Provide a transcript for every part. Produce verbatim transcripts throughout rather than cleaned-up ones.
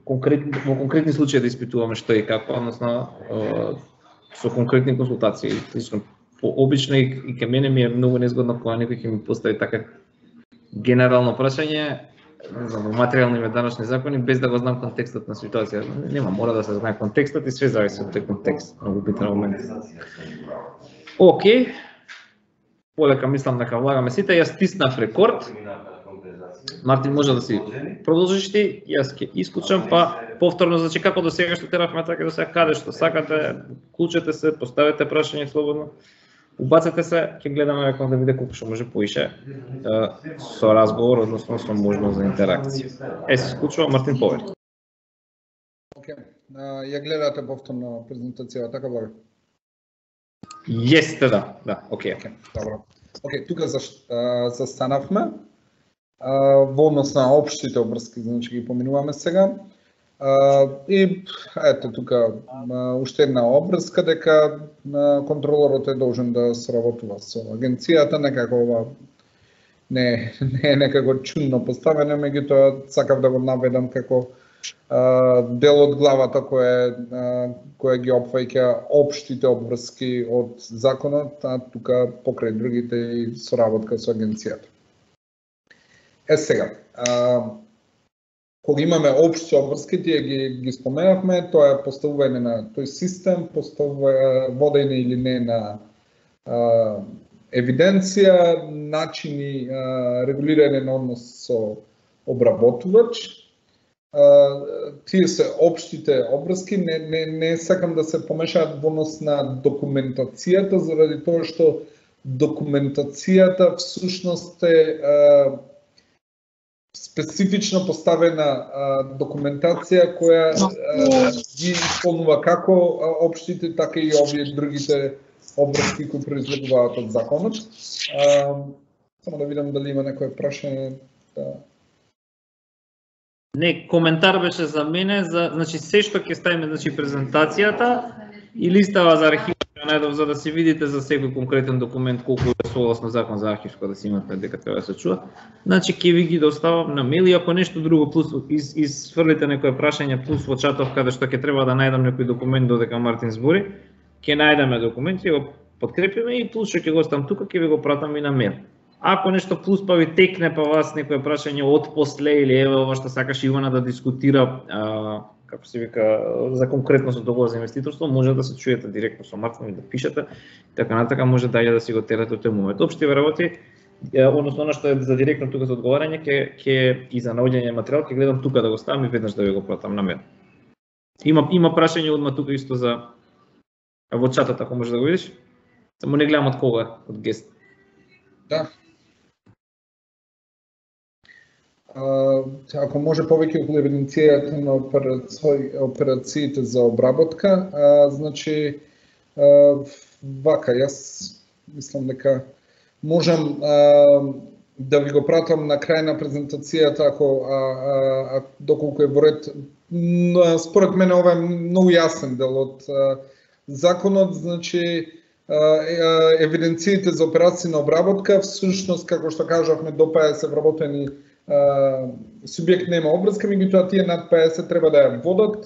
конкретни во конкретни случаи да испитуваме што и како, односно со конкретни консултации. По обично и, и ке мене ми е многу незгодно кога некој ќе ми постави така генерално прашање, не знам, материјални и данъчни закони без да го знам контекстот на ситуацијата. Нема, мора да се знае контекстот и све зависи од тој контекст. Многу битен момент. Океј. Полека мислам дека влагаме сите, јас стиснав рекорд. Мартин, може да си продолжиш ти, јас ќе исклучам, па повторно, значи како до сега што теравме, така до сега каде што сакате, клучете се, поставете прашање слободно, убацете се, ќе гледаме како да биде колку што може поише со разговор, односно со можност за интеракција. Е, се исклучува, Мартин, повери. Океј, ја гледате повторно презентацијата, така благо? Јесте, да, да, океј. Добро. Океј, тука застанавме. Во однос на општите обврски, значи ги поминуваме сега. И ето тука уште една обврска дека контролорот е должен да сработува со агенцијата, некако ова не, не е некако чудно поставено, меѓутоа сакав да го наведам како дел од главата која која ги опфаќа општите обврски од законот, а тука покрај другите и соработка со агенцијата. Е сега, а, кога имаме општи обврски, тие ги, ги споменавме, тоа е поставување на тој систем, поставување водење или не на а, евиденција, начини а, регулирање на однос со обработувач. А, тие се општите обврски, не, не, не сакам да се помешаат во однос на документацијата, заради тоа што документацијата всушност е а, специфично поставена а, документација која а, ги исполнува како а, општите, така и овие другите обврски кои произлегуваат од законот. А, само да видам дали има некој прашање. Да. Не, коментар беше за мене, за, значи се што ќе ставиме, значи презентацијата и листава за архив најдов, за да си видите за секој конкретен документ колку е согласно закон за архивско, да си имате дека треба да се чува. Значи ќе ви ги доставам на мејл и ако нешто друго плюс из изфрлите некое прашање плюс во чатов каде што ќе треба да најдам некој документ додека Мартин збори, ќе најдеме документ и го подкрепиме и плюс што ќе го оставам тука ќе ви го пратам и на мејл. Ако нешто плюс па ви текне па вас некое прашање од после или еве ова што сакаш Ивана да дискутира, а, како се вика, за конкретно со договор за инвеститорство, може да се чуете директно со Мартин и да пишете, така натака може да ја да си го терате од тој момент. Општи работи, односно она што е за директно тука за одговарање, ќе ќе и за наоѓање материјал ќе гледам тука да го ставам и веднаш да ви го пратам на мејл. Има има прашање одма тука исто за во чатот, ако може да го видиш. Само не гледам од кога, од гест. Да. Ако може повеќе околу евиденцијата на операциите за обработка, а, значи а, вака, јас мислам дека можам а, да ви го пратам на крај на презентацијата, ако а, а, доколку е во ред. Според мене ова е многу јасен дел од а, законот, значи евиденциите за операции на обработка, всушност како што кажавме до педесет вработени субјект нема обврска, меѓутоа тие над педесет треба да ја водат.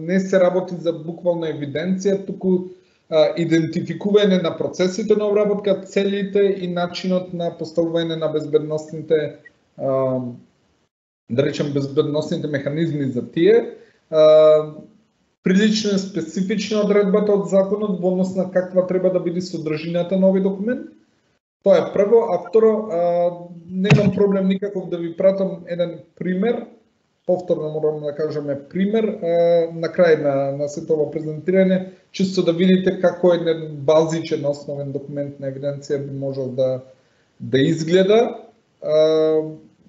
Не се работи за буквална евиденција, туку идентификување на процесите на обработка, целите и начинот на поставување на безбедносните, да речем, безбедносните механизми за тие. Прилично е специфична одредбата од законот во однос на каква треба да биде содржината на овој документ. Тоа е прво, а второ, немам проблем никаков да ви пратам еден пример, повторно морам да кажеме пример, на крај на, на сето ова презентирање, чисто да видите како еден базичен основен документ на евиденција би можел да, да изгледа.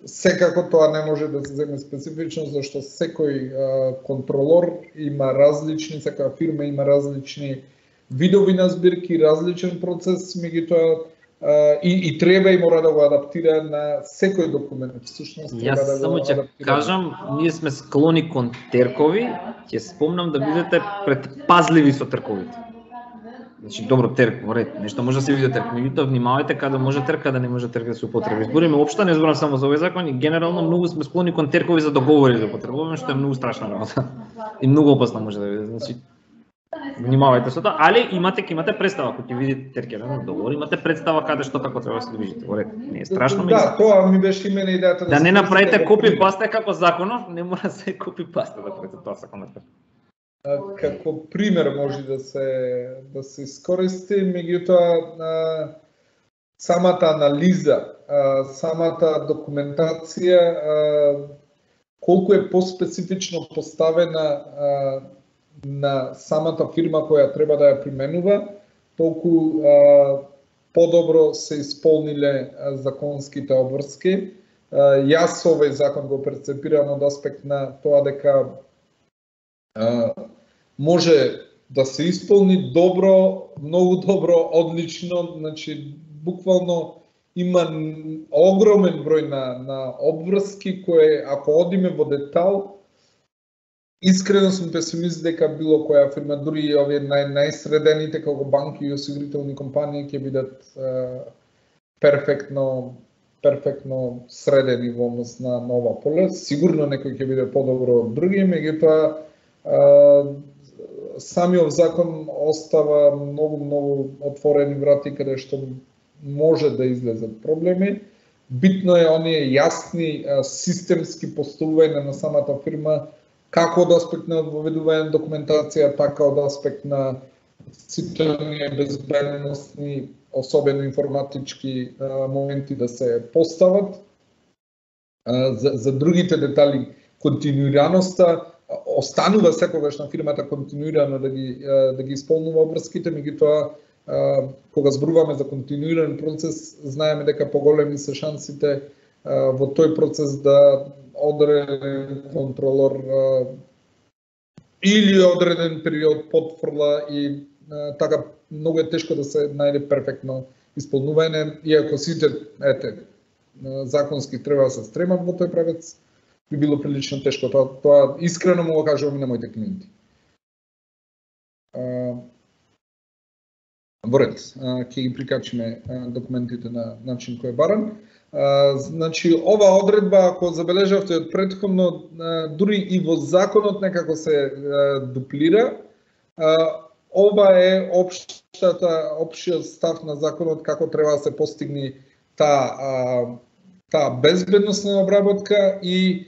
Секако тоа не може да се земе специфично, зашто секој контролор има различни, секоја фирма има различни видови на збирки, различен процес, меѓутоа и, и треба и мора да го адаптира на секој документ. Всушност треба Јас да само го ќе адаптира. кажам, ние сме склони кон теркови, ќе спомнам да бидете предпазливи со терковите. Значи добро терк во ред, нешто може да се види терк, меѓутоа внимавајте каде може терк, каде не може терк да се употреби. Збориме општо, не зборам само за овој закон, и генерално многу сме склони кон теркови за договори да употребуваме, што е многу страшна работа. И многу опасно може да биде. Значи внимавајте со тоа, али имате ќе имате представа кога ќе видите теркерен договор, имате представа каде што како треба да се движите во ред. Не е страшно, да, тоа ми беше и мене идејата да, да не направите копи паста како законов, не мора да се копи паста да правите тоа законот. Како пример може да се да се искористи, меѓутоа самата анализа, самата документација колку е поспецифично поставена на самата фирма која треба да ја применува, толку подобро се исполниле законските обврски. Јас овој закон го перцепирам од аспект на тоа дека Uh, може да се исполни добро, многу добро, одлично, значи буквално има огромен број на, на обврски кои ако одиме во детал, искрено сум песимист дека било која фирма, дури и овие нај, најсредените како банки и осигурителни компании ќе бидат uh, перфектно перфектно средени во однос на нова поле. Сигурно некој ќе биде подобро од други, меѓутоа Uh, самиот закон остава многу многу отворени врати каде што може да излезат проблеми. Битно е оние јасни uh, системски поставување на самата фирма, како од аспект на воведување документација, така од аспект на сите оние безбедносни, особено информатички uh, моменти да се постават. Uh, за, за другите детали, континуираноста останува секогаш на фирмата континуирано да ги да ги исполнува обврските, меѓутоа кога зборуваме за континуиран процес, знаеме дека поголеми се шансите во тој процес да одреден контролор или одреден период потфрла и така многу е тешко да се најде перфектно исполнување, иако сите ете законски треба да се стремат во тој правец, би било прилично тешко. Тоа, тоа искрено му го кажувам и на моите клиенти. Во ред, ќе ги прикачиме документите на начин кој е баран. Значи, ова одредба, ако забележавте од претходно, дури и во законот некако се дуплира, ова е општата, општиот став на законот како треба да се постигне таа таа безбедносна обработка и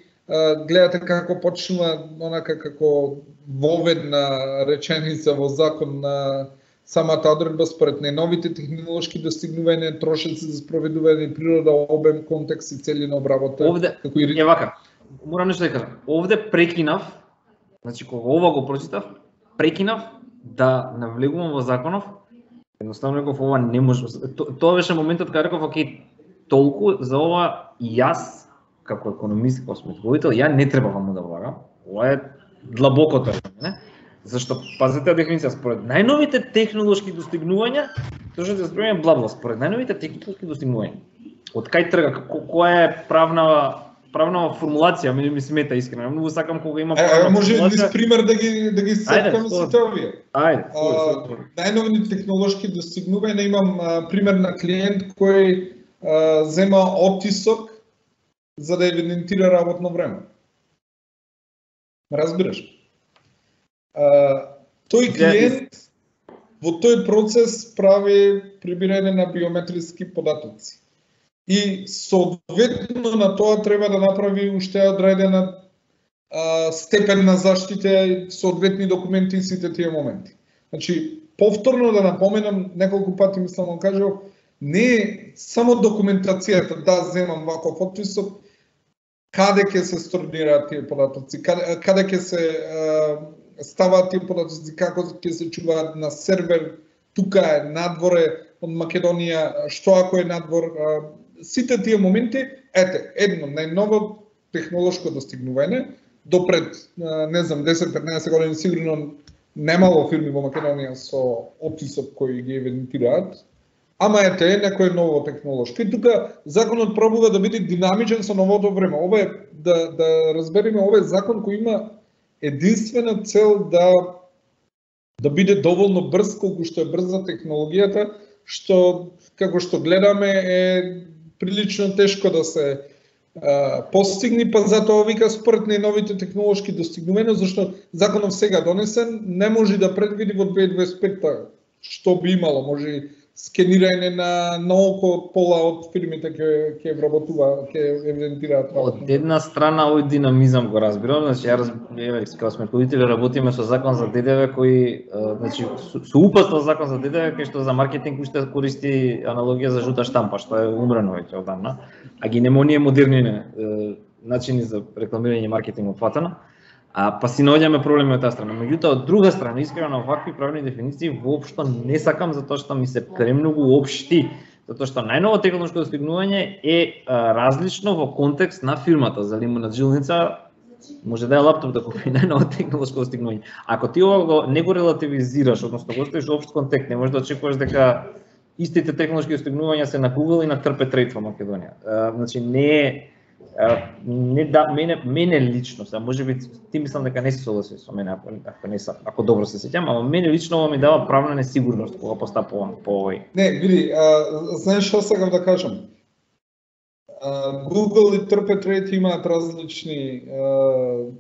гледате како почнува онака како воведна реченица во закон на самата одредба според најновите технолошки достигнувања, трошоци за спроведување, природа, обем, контекст и цели на обработка. Овде како и е вака. Морам нешто да кажам. Овде прекинав, значи кога ова го прочитав, прекинав да навлегувам во законов. Едноставно реков ова не може. Тоа беше моментот кога реков окей, толку за ова јас како економист, како сметковител, ја не треба вам да влагам. Ова е длабокото е, не? Зашто пазете дефиниција според најновите технолошки достигнувања, тоа што се зборува блабла, според најновите технолошки достигнувања. Од кај трга, која е правна правна формулација, ми ми смета искрено. Многу сакам кога има правна формулација. Може низ пример да ги да ги сеткаме сите овие. Ајде. Најновите технолошки достигнувања, имам а, пример на клиент кој а, зема оттисок за да евидентира работно време. Разбираш? А, тој клиент во тој процес прави прибирање на биометриски податоци. И соодветно на тоа треба да направи уште одредена а, степен на заштита, соодветни документи и сите тие моменти. Значи, повторно да напоменам, неколку пати мислам да кажав, не е само документацијата, да земам ваков отписок, каде ќе се сторнираат тие податоци, каде, каде ќе се а, ставаат тие податоци, како ќе се чуваат на сервер, тука е, надворе од Македонија, што ако е надвор, а, сите тие моменти, ете, едно, најново технолошко достигнување, допред, а, не знам, десет-петнаесет години сигурно немало фирми во Македонија со оттисок кои ги евидентираат, ама ете е некој ново технолошко. И тука законот пробува да биде динамичен со новото време. Ова е, да, да разбереме, ова е закон кој има единствена цел да да биде доволно брз колку што е брза технологијата, што како што гледаме е прилично тешко да се а, постигни, па затоа вика според најновите технолошки достигнувања, зашто законов сега донесен не може да предвиди во две илјади дваесет и петта што би имало, може скенирање на на око пола од фирмите ќе ќе вработува, ќе евидентираат. Од една страна овој динамизам го разбирам, значи ја еве кога сме родители работиме со закон за ДДВ кој значи со, со упатно закон за ДДВ кој што за маркетинг уште користи аналогија за жута штампа, што е умрено веќе одамна, а ги нема оние модерни начини за рекламирање и маркетинг опфатено. А па си наоѓаме проблеми од таа страна. Меѓутоа од друга страна, искрено на вакви правни дефиниции воопшто не сакам затоа што ми се премногу општи, затоа што најново технолошко достигнување е а, различно во контекст на фирмата. За лимунат жилница може да е лаптоп да купи најново технолошко достигнување. Ако ти ова го не го релативизираш, односно го ставиш во општ контекст, не можеш да очекуваш дека истите технолошки достигнувања се на Google и на TrpTrade во Македонија. А, значи не е не да мене мене лично, сега можеби ти мислам дека не се согласи со мене, ако ако не са, ако добро се сеќам, ама мене лично ова ми дава правна несигурност кога постапувам по овој. Не, види, а, знаеш што сакам да кажам? А, Google и TrpTrade имаат различни а,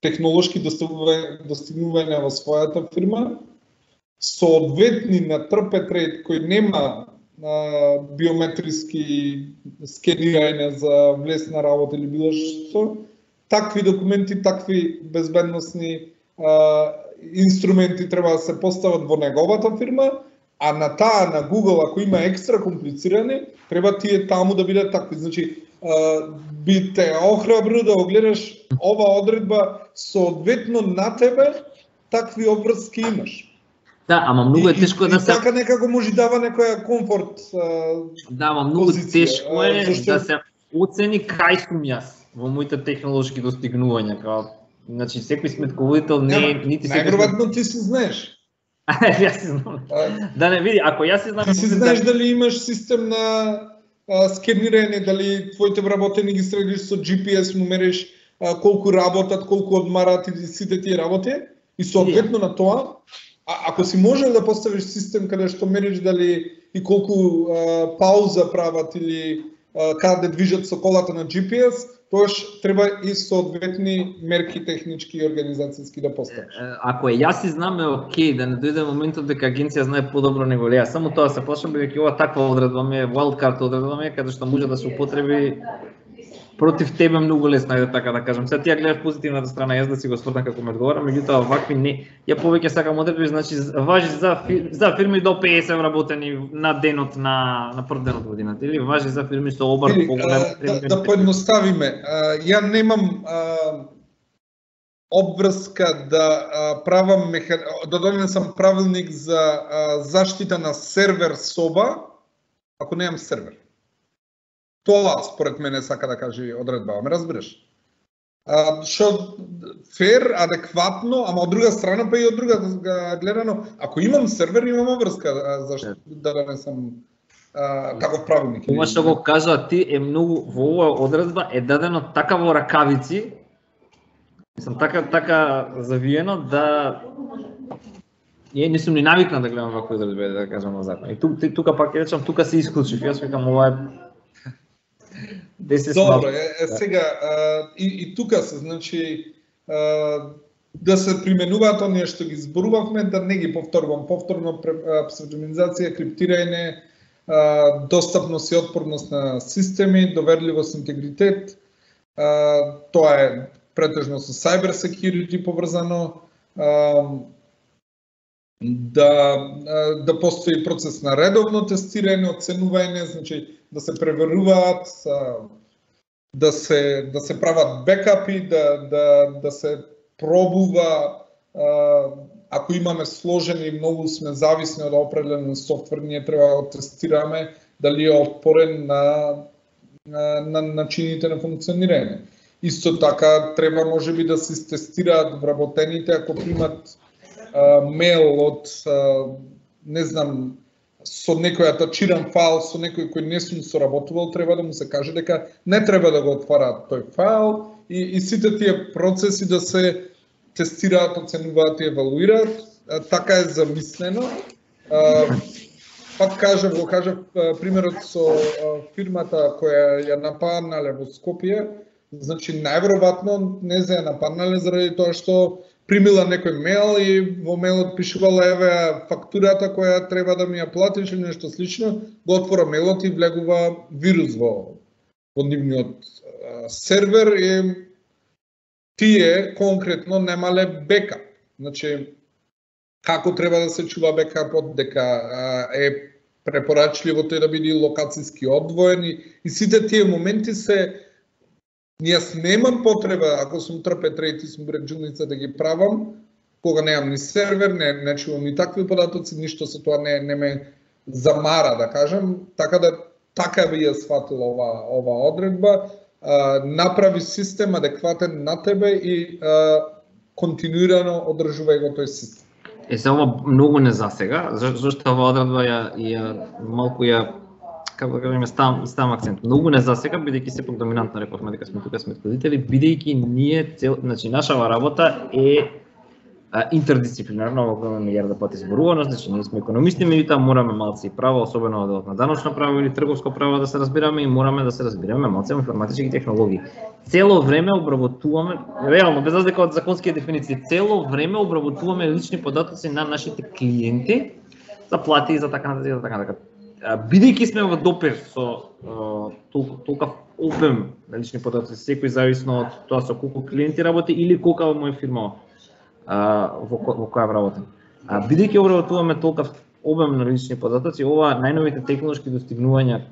технолошки достигнувања, достигнувања во својата фирма. Соодветни на TrpTrade кој нема биометриски скенирање за влезна работа или било што, такви документи, такви безбедносни а, инструменти треба да се постават во неговата фирма, а на таа на Google ако има екстра комплицирани, треба тие таму да бидат такви. Значи, а, би те охрабрил да огледаш ова одредба соодветно на тебе, такви обврски имаш. Да, ама многу е тешко и, да и се... И така некако може дава некоја комфорт а, Да, ама многу позиција, тешко е зашто... да се оцени кај сум јас во моите технолошки достигнувања. Као, значи, секој сметководител не е нити секој... Најверојатно ти си знаеш. Јас си знам. А... Да не види, ако јас си знам... Ти си знаеш да... дали имаш систем на а, скенирање, дали твоите вработени ги средиш со Джи Пи Ес, му мериш а, колку работат, колку одмарат и сите тие работи, и соодветно на тоа, А, ако си можел да поставиш систем каде што мериш дали и колку а, пауза прават или а, каде движат со колата на Джи Пи Ес, тоаш треба и соодветни мерки технички и организацијски да поставиш. Ако е јас си знаме, окей, да не дојде моментот дека агенција знае подобро него ли јас. Само тоа се плашам, бидејќи ова таква одредба ми е, wildcard одредба ми е, каде што може да се употреби против тебе многу лесно е, така да кажам. Сега ти ја гледаш позитивната страна, јас да си го свртам како ме одговара, меѓутоа вакви не. Ја повеќе сакам одредби, значи важи за фир... за фирми до педесет вработени на денот на на прв ден од годината или важи за фирми со обрт поголем. Да, да поедноставиме. Ја немам а, обврска да а, правам меха... да донесам правилник за а, заштита на сервер соба ако немам сервер. Тоа според мене сака да каже одредба, ме разбираш? А, шо фер, адекватно, ама од друга страна па и од друга гледано, ако имам сервер, имам обврска зашто да не сам а, таков правилник. Ова што го кажа ти е многу во оваа одредба е дадено така во ракавици, мислам така така завиено да Ја не сум ни навикнат да гледам вакви одредби, да кажам на закон. И тука, тука пак ќе речам, тука се исклучив. Јас викам ова е Добро, е, е, сега а, и, и тука се, значи, а, да се применуваат оние што ги зборувавме, да не ги повторувам, повторно псевдонимизација, криптирање, а, достапност и отпорност на системи, доверливост, интегритет, а, тоа е претежно со cyber security поврзано, а, да да постои процес на редовно тестирање, оценување, значи да се преверуваат, да се да се прават бекапи, да да да се пробува, ако имаме сложени и многу сме зависни од определен софтвер, ние треба да тестираме дали е отпорен на на, на начините на функционирање. Исто така треба можеби да се тестираат вработените ако примат Uh, мейл од, uh, не знам, со некој атачиран файл, со некој кој не сум соработувал, треба да му се каже дека не треба да го отвараат тој файл и, и сите тие процеси да се тестираат, оценуваат и евалуираат. Така е замислено. Пак кажав, го кажав примерот со фирмата која ја нападнале во Скопје. Значи, најверојатно не се ја нападнале заради тоа што примила некој мејл и во мејлот пишувала еве фактурата која треба да ми ја платиш или нешто слично, го отвора мејлот и влегува вирус во во нивниот сервер и тие конкретно немале бекап. Значи, како треба да се чува бекапот, дека е препорачливо тој да биде локацијски одвоен и, и сите тие моменти се Јас немам потреба, ако сум трпе трети, сум реджуница да ги правам, кога немам ни сервер, не, не чувам ни такви податоци, ништо со тоа не, не ме замара, да кажам, така да така би ја сватила ова, ова одредба, а, направи систем адекватен на тебе и а, континуирано одржувај го тој систем. Е, се ова многу не засега, зашто ова одредба ја, ја малку ја како да кажеме, ставам, ставам акцент. Многу не засега, бидејќи сепак доминантно рековме дека сме тука сметkodители, бидејќи ние цел, значи нашава работа е а, интердисциплинарна, во која милиарда пати зборувано, значи ние сме економисти, меѓутоа мораме малце и право, особено од на даночно право или трговско право да се разбираме и мораме да се разбираме малце информатички технологии. Цело време обработуваме, реално без разлика од законските дефиниции, цело време обработуваме лични податоци на нашите клиенти за плати и за така нататък, за така нататък. Бидејќи сме во допир со толков обем на лични податоци, секој зависно од тоа со колку клиенти работи или колка во моја фирма во, во која работам. Бидејќи обработуваме толков обем на лични податоци, ова најновите технолошки достигнувања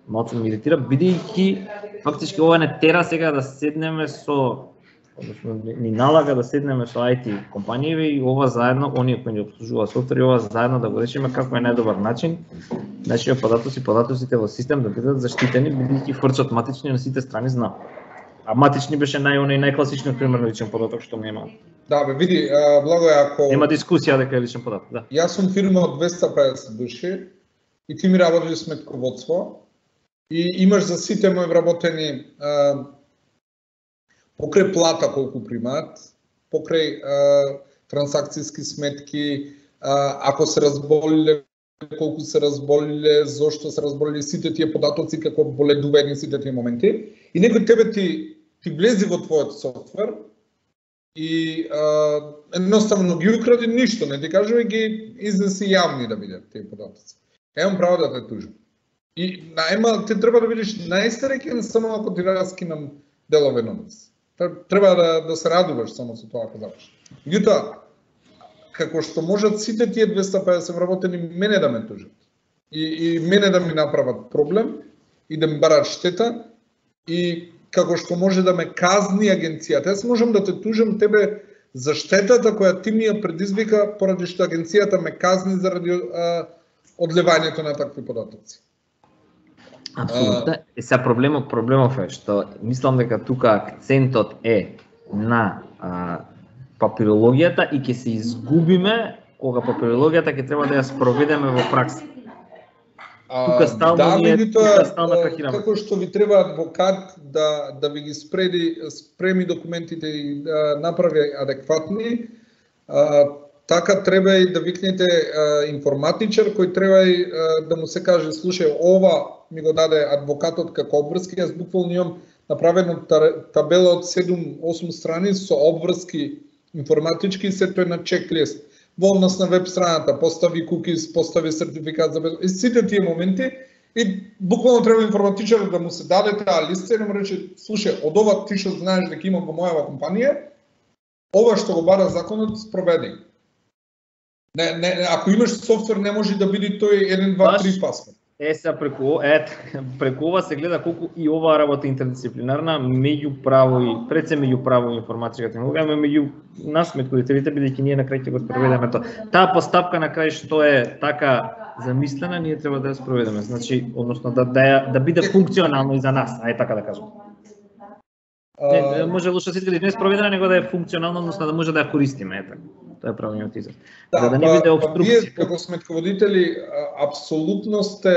малку ме иритира, бидејќи фактички ова не тера сега да седнеме со, односно ни налага да седнеме со ай ти компанији и ова заедно, оние кои ни обслужуваат софтвери, ова заедно да го решиме како е најдобар начин нашите податоци, податоците во систем да бидат заштитени, бидејќи фрчат матични на сите страни знам. А матични беше нај најкласичниот пример на личен податок што нема. Да, бе, види, Благој, ако нема дискусија дека е личен податок, да. Јас сум фирма од двеста и педесет души и ти ми работиш сметководство и имаш за сите мои вработени а, покрај плата колку примаат, покрај а, трансакцијски сметки, а, ако се разболиле, колку се разболиле, зошто се разболиле, сите тие податоци како боледување сите тие моменти. И некој тебе ти, ти влези во твојот софтвер и а, едноставно ги укради ништо, не ти кажува ги изнеси јавни да бидат тие податоци. Емам право да те тужам. И најма, ти треба да бидеш најсреќен само ако ти раскинам делове новец. Треба да, да се радуваш само со тоа ако запиш. Меѓутоа, како што можат сите тие двеста и педесет вработени мене да ме тужат и, и мене да ми направат проблем и да ми барат штета и како што може да ме казни агенцијата. Јас можам да те тужам тебе за штетата која ти ми ја предизвика поради што агенцијата ме казни заради а, одливањето на такви податоци. Апсолутно. Е, сега проблемот, проблемов е што мислам дека тука акцентот е на а, папирологијата и ќе се изгубиме кога папирологијата ќе треба да ја спроведеме во пракса. Тука стално да, ние, тука стално да, кракираме. како што ви треба адвокат да да ви ги спреди спреми документите и да направи адекватни, а, така треба и да викнете а, информатичар кој треба и а, да му се каже слушај, ова ми го даде адвокатот како обврски, јас буквално имам направено табела од седум-осум страни со обврски информатички и сето е на чеклист. Во однос на веб страната, постави кукис, постави сертификат за безбедност, и сите тие моменти и буквално треба информатичарот да му се даде таа листа и да му рече, слушај, од ова ти што знаеш дека имам во мојава компанија, ова што го бара законот спроведи. Не, не, ако имаш софтвер не може да биде тој еден, два, три паспорт. Е, сега преку, е, преку ова се гледа колку и оваа работа интердисциплинарна меѓу право и пред се меѓу право и информатичка технологија, ама меѓу нас сметководителите, бидејќи ние на крај ќе го спроведеме тоа. Таа постапка на крај што е така замислена, ние треба да ја спроведеме. Значи, односно да да, да биде функционално и за нас, ај така да кажам. Не, може лошо се иска да не спроведена, него да е функционално, односно да може да ја користиме, е така. Тоа е правилниот израз. Да, за да не биде обструкција. Вие како сметководители апсолутно сте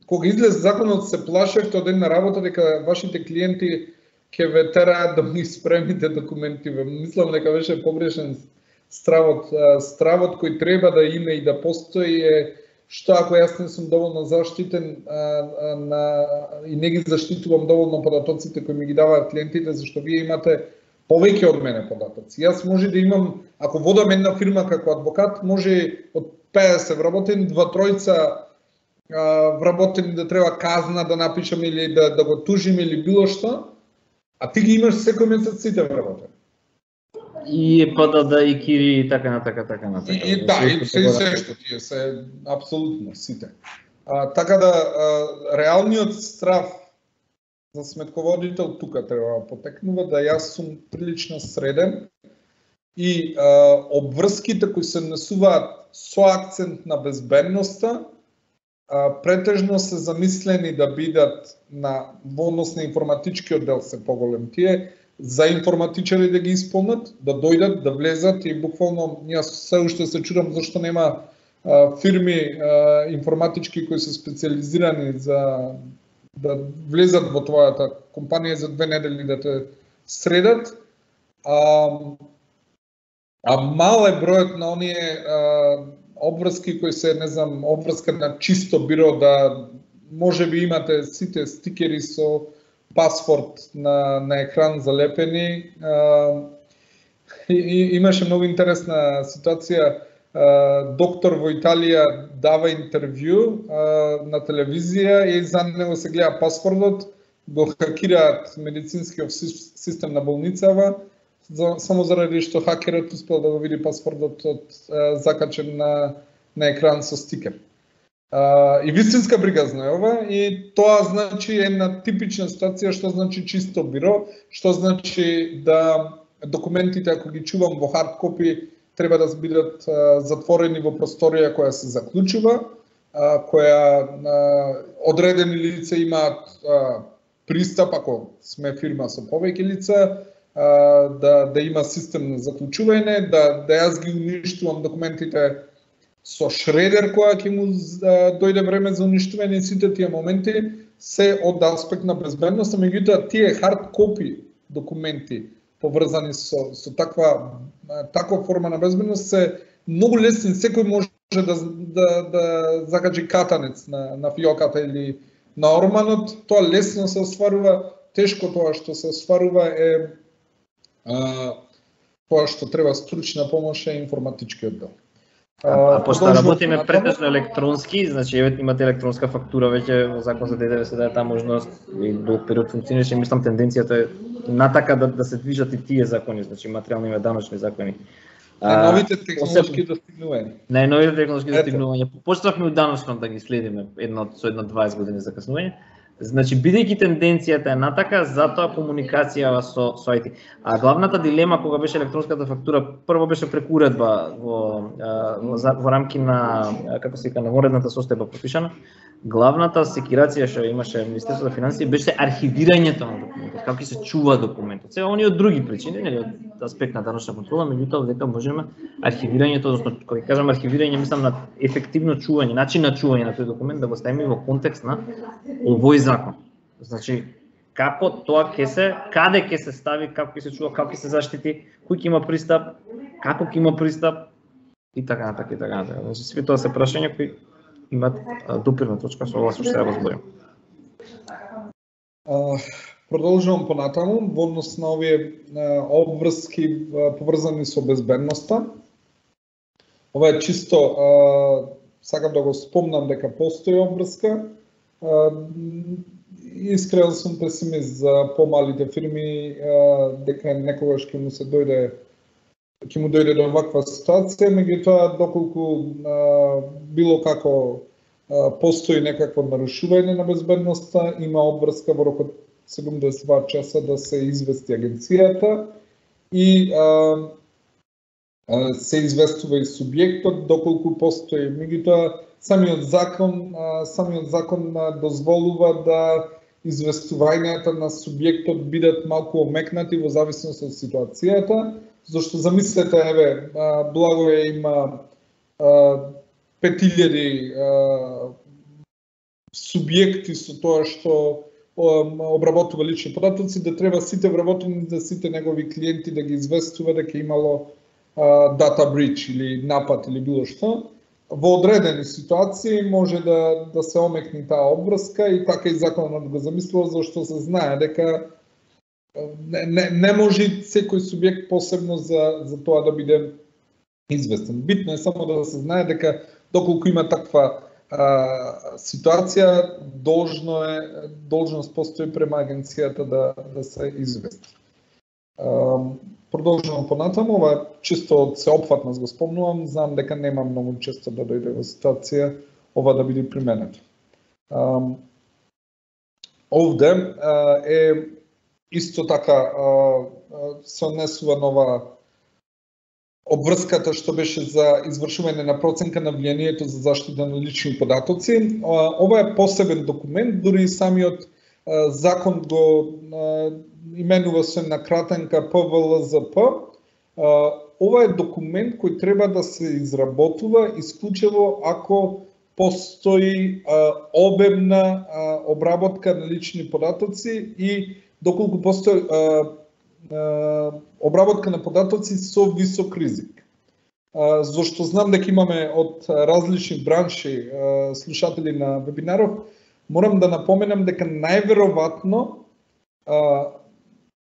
кога излез законот се плашевте од една работа дека вашите клиенти ќе ве тераат да ми спремите документи. Мислам дека беше погрешен стравот. Стравот кој треба да има и да постои е што ако јас не сум доволно заштитен а, а, на, и не ги заштитувам доволно податоците кои ми ги даваат клиентите, зашто вие имате повеќе од мене податоци. Јас може да имам, ако водам една фирма како адвокат, може од педесет вработени, два тројца вработени да треба казна да напишам или да, да го тужим или било што, а ти ги имаш секој месец сите вработени. И е па да да и кири и така на така така на така. И, и да, и се се што тие се апсолутно сите. А, така да а, реалниот страф за сметководител тука треба да потекнува, да јас сум прилично среден и а, обврските кои се несуваат со акцент на безбедноста а, претежно се замислени да бидат на во однос на информатичкиот дел се поголем тие, за информатичари да ги исполнат, да дојдат, да влезат и буквално јас се уште се чудам зашто нема а, фирми а, информатички кои се специализирани за да влезат во твојата компанија за две недели да те средат. А, а мал е бројот на оние а, обврски кои се, не знам, обврска на чисто биро да можеби имате сите стикери со пасворд на, на екран залепени. А, и, и, имаше многу интересна ситуација. А, доктор во Италија дава интервју а, на телевизија и за него се гледа пасвордот, го хакираат медицинскиот систем на болницава, за, само заради што хакерот успел да го види пасвордот од, а, закачен на, на екран со стикер. Uh, и вистинска бригазна е ова, и тоа значи една типична ситуација што значи чисто биро, што значи да документите ако ги чувам во хард копи треба да бидат uh, затворени во просторија која се заклучува, uh, која uh, одредени лица имаат uh, пристап ако сме фирма со повеќе лица, uh, да да има систем на заклучување, да да јас ги уништувам документите со шредер која ќе му дојде време за уништување, сите тие моменти се од аспект на безбедност, меѓутоа тие хард копи документи поврзани со со таква таква форма на безбедност се многу лесни, секој може да да да закачи катанец на на фиоката или на орманот, тоа лесно се остварува, тешко тоа што се остварува е а, тоа што треба стручна помош е информатичкиот дел. А, а пошто работиме претежно електронски, значи еве имате електронска фактура веќе во закон за ДДВ се дае таа можност и долг период функционираше, мислам тенденцијата е натака да да се движат и тие закони, значи материјални и даночни закони. Најновите технолошки достигнувања. Најновите технолошки достигнувања. Почнавме од даночно да ги следиме едно со едно дваесет години закаснување. Значи, бидејќи тенденцијата е натака, затоа комуникација со, со ай ти. А главната дилема кога беше електронската фактура, прво беше преку уредба во, во, во рамки на, како се вика, на уредната состојба пропишана. Главната секирација што имаше Министерството за финансии беше архивирањето на документот, како ќе се чува документот. Сега они од други причини, нели, од аспект на даночна контрола, меѓутоа дека можеме архивирањето, односно кога кажам архивирање, мислам на ефективно чување, начин на чување на тој документ да го ставиме во контекст на овој закон. Значи, како тоа ќе се, каде ќе се стави, како ќе се чува, како ќе се заштити, кој ќе има пристап, како ќе има пристап и така натака и така натака. Значи, сви тоа се прашања кои имат допирна точка со ова што ќе ја разборим. Продолжувам понатаму во однос на овие обврски поврзани со безбедноста. Ова е чисто, сакам да го спомнам дека постои обврска. Искрен сум песимист за помалите фирми, дека некогаш ќе му се дојде ќе му дојде до ваква ситуација, меѓутоа доколку а, било како а, постои некакво нарушување на безбедноста, има обврска во рок од седумдесет и два часа да се извести агенцијата и а, а, се известува и субјектот доколку постои. Меѓутоа самиот закон, а, самиот закон а, дозволува да известувањата на субјектот бидат малку омекнати во зависност од ситуацијата. Зашто замислете, еве, Благое има пет илјади субјекти со тоа што обработува лични податоци, да треба сите вработеници, да сите негови клиенти да ги известува дека имало data breach или напад или било што. Во одредени ситуации може да да се омекне таа обврска и така и законот го замислува, зашто се знае дека не, не, не може секој субјект посебно за за тоа да биде известен. Битно е само да се знае дека доколку има таква а, ситуација, должно е должност постои према агенцијата да да се извести. А, Продолжувам понатаму, ова чисто од сеопфатност го спомнувам, знам дека нема многу често да дојде во ситуација ова да биде применето. А, овде а, е исто така а, се однесува нова обврската што беше за извршување на проценка на влијанието за заштита на лични податоци. А, ова е посебен документ, дури и самиот а, закон го а, именува се на кратенка П В Л З П. Ова е документ кој треба да се изработува исклучиво ако постои обемна обработка на лични податоци и доколку постои обработка на податоци со висок ризик. Зашто знам дека имаме од различни бранши слушатели на вебинаров, морам да напоменам дека најверојатно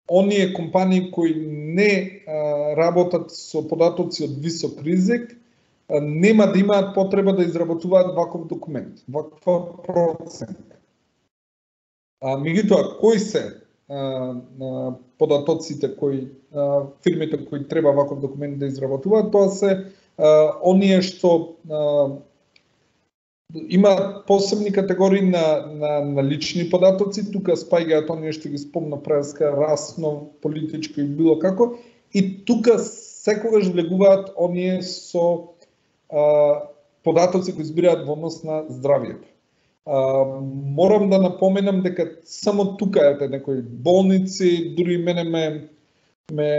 оние компании кои не а, работат со податоци од висок ризик, а, нема да имаат потреба да изработуваат ваков документ, ваква проценка. А меѓутоа, кои се а, а, податоците кои а, фирмите кои треба ваков документ да изработуваат, тоа се а, оние што а, има посебни категории на, на, на лични податоци, тука спаѓаат оние што ги спомна преска, расно, политичко и било како, и тука секогаш влегуваат оние со а, податоци кои збираат во однос на здравието. А, морам да напоменам дека само тука е некои болници, дури мене ме, ме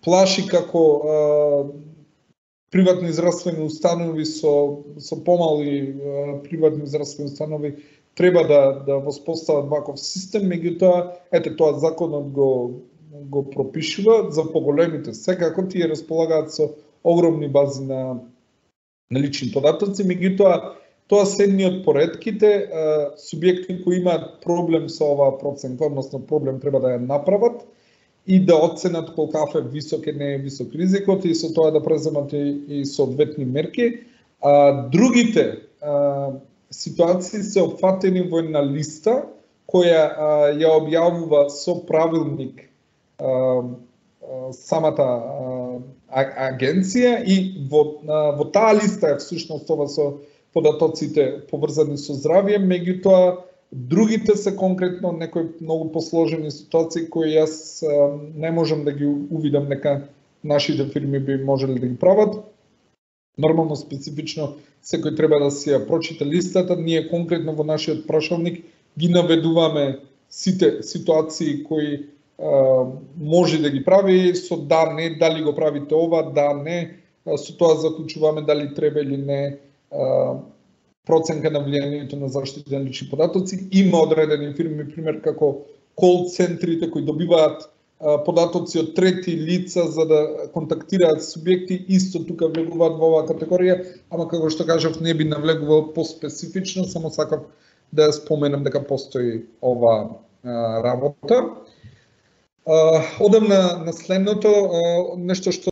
плаши како а, приватни здравствени установи со со помали приватни здравствени установи треба да да воспостават ваков систем, меѓутоа ете тоа законот го го пропишува за поголемите. Секако тие располагаат со огромни бази на на лични податоци, меѓутоа тоа се едни од поредките субјекти кои имаат проблем со оваа проценка, односно проблем треба да ја направат и да оценат колкав е висок е не е висок ризикот и со тоа да преземат и, и соодветни мерки. А, другите а, ситуации се опфатени во една листа која а, ја објавува со правилник а, а, самата а, агенција и во, а, во таа листа е всушност ова со податоците поврзани со здравје, меѓутоа другите се конкретно некои многу посложени ситуации кои јас а, не можам да ги увидам дека нашите фирми би можеле да ги прават. Нормално, специфично, секој треба да си ја прочита листата. Ние конкретно во нашиот прашалник ги наведуваме сите ситуации кои а, може да ги прави со да, не, дали го правите ова, да, не, со тоа заклучуваме дали треба или не а, проценка на влијанието на заштита на лични податоци. Има одредени фирми, пример како кол центрите кои добиваат а, податоци од трети лица за да контактираат субјекти, исто тука влегуваат во оваа категорија, ама како што кажав не би навлегувал поспецифично, само сакав да ја споменам дека постои ова а, работа. А, одам на, на следното, а, нешто што